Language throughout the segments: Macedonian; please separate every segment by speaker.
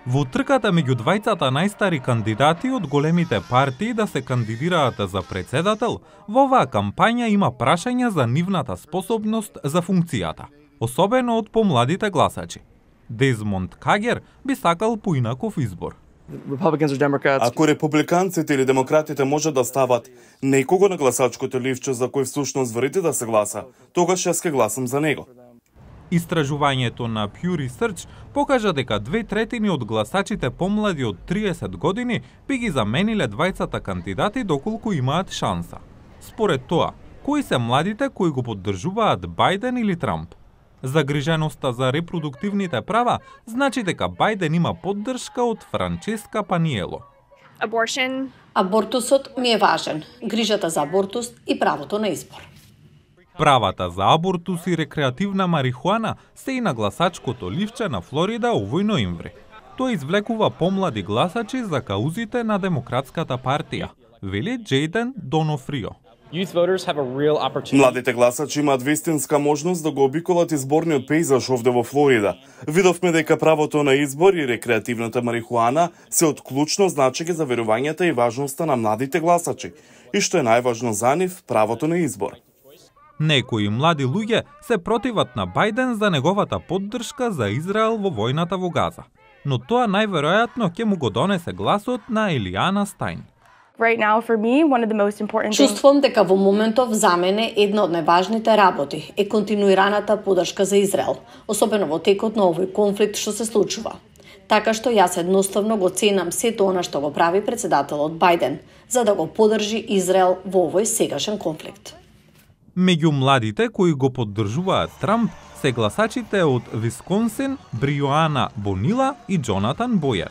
Speaker 1: Во трката меѓу двајцата најстари кандидати од големите партии да се кандидираат за председател, во оваа кампања има прашања за нивната способност за функцијата, особено од помладите гласачи. Дезмонд Кагер би сакал поинаков избор.
Speaker 2: Ако републиканците или демократите можат да стават некого на гласачкото ливче за кој всушност верите да се гласа, тогаш јас ќе гласам за него.
Speaker 1: Истражувањето на Pew Research покажа дека 2/3 од гласачите помлади од 30 години би ги замениле двајцата кандидати доколку имаат шанса. Според тоа, кои се младите кои го поддржуваат Бајден или Трамп? Загриженоста за репродуктивните права значи дека Бајден има поддршка од Франческа Паниело.
Speaker 3: Абортусот ми е важен, грижата за абортус и правото на избор.
Speaker 1: Правата за абортус и рекреативна марихуана се и на гласачкото ливче на Флорида овој ноември. Тој извлекува помлади гласачи за каузите на Демократската партија, вели Джейден Донофрио.
Speaker 2: Младите гласачи имаат вистинска можност да го обиколат изборниот пејзаж овде во Флорида. Видовме дека правото на избор и рекреативната марихуана се од клучно значење за верувањата и важноста на младите гласачи. И што е најважно за нив, правото на избор.
Speaker 1: Некои млади луѓе се противат на Бајден за неговата поддршка за Израел во војната во Газа. Но тоа најверојатно ќе му го донесе гласот на Елијана Стајн.
Speaker 3: Чувствувам дека во моментов за мене една од најважните работи е континуираната поддршка за Израел, особено во текот на овој конфликт што се случува. Така што јас едноставно го ценам сето она што го прави председателот Бајден, за да го поддржи Израел во овој сегашен конфликт.
Speaker 1: Меѓу младите кои го поддржуваат Трамп се гласачите од Висконсин, Бриоана Бонила и Джонатан Бојер.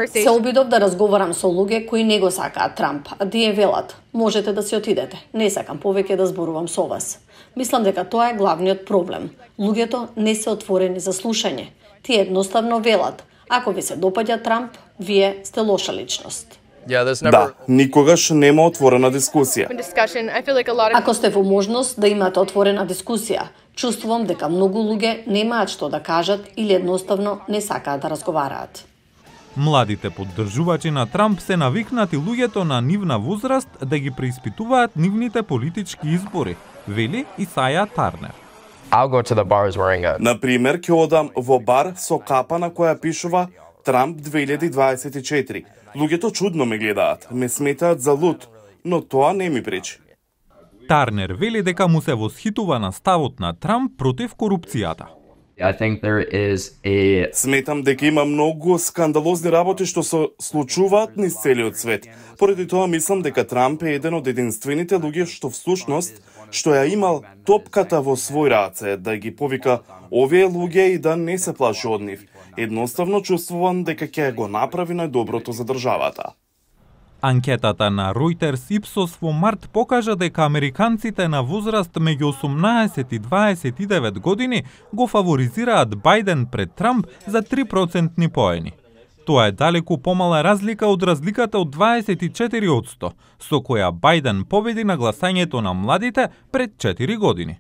Speaker 3: Се обидов да разговарам со луѓе кои не го сакаат Трамп, а тие велат, можете да си отидете, не сакам повеќе да зборувам со вас. Мислам дека тоа е главниот проблем. Луѓето не се отворени за слушање. Тие едноставно велат, ако ви се допаѓа Трамп, вие сте лоша личност.
Speaker 2: Да, никогаш нема отворена дискусија.
Speaker 3: Ако сте во можност да имате отворена дискусија, чувствувам дека многу луѓе немаат што да кажат или едноставно не сакаат да разговараат.
Speaker 1: Младите поддржувачи на Трамп се навикнати луѓето на нивна возраст да ги преиспитуваат нивните политички избори, вели Исаја Тарнер.
Speaker 2: Например, ќе одам во бар со капа на која пишува Трамп 2024. Луѓето чудно ме гледаат, ме сметаат за луд, но тоа не ми пречи.
Speaker 1: Тарнер вели дека му се восхитува на ставот на Трамп против корупцијата.
Speaker 2: Сметам дека има многу скандалозни работи што се случуваат низ целиот свет. Поради тоа мислам дека Трамп е еден од единствените луѓе што всушност што ја имал топката во свој раце, да ги повика овие луѓе и да не се плаши од нив. Едноставно чувствувам дека ќе го направи најдоброто за државата.
Speaker 1: Анкетата на Reuters Ipsos во март покажа дека американците на возраст меѓу 18 и 29 години го фаворизираат Бајден пред Трамп за 3% поени. Тоа е далеку помала разлика од разликата од 24%, со која Бајден победи на гласањето на младите пред 4 години.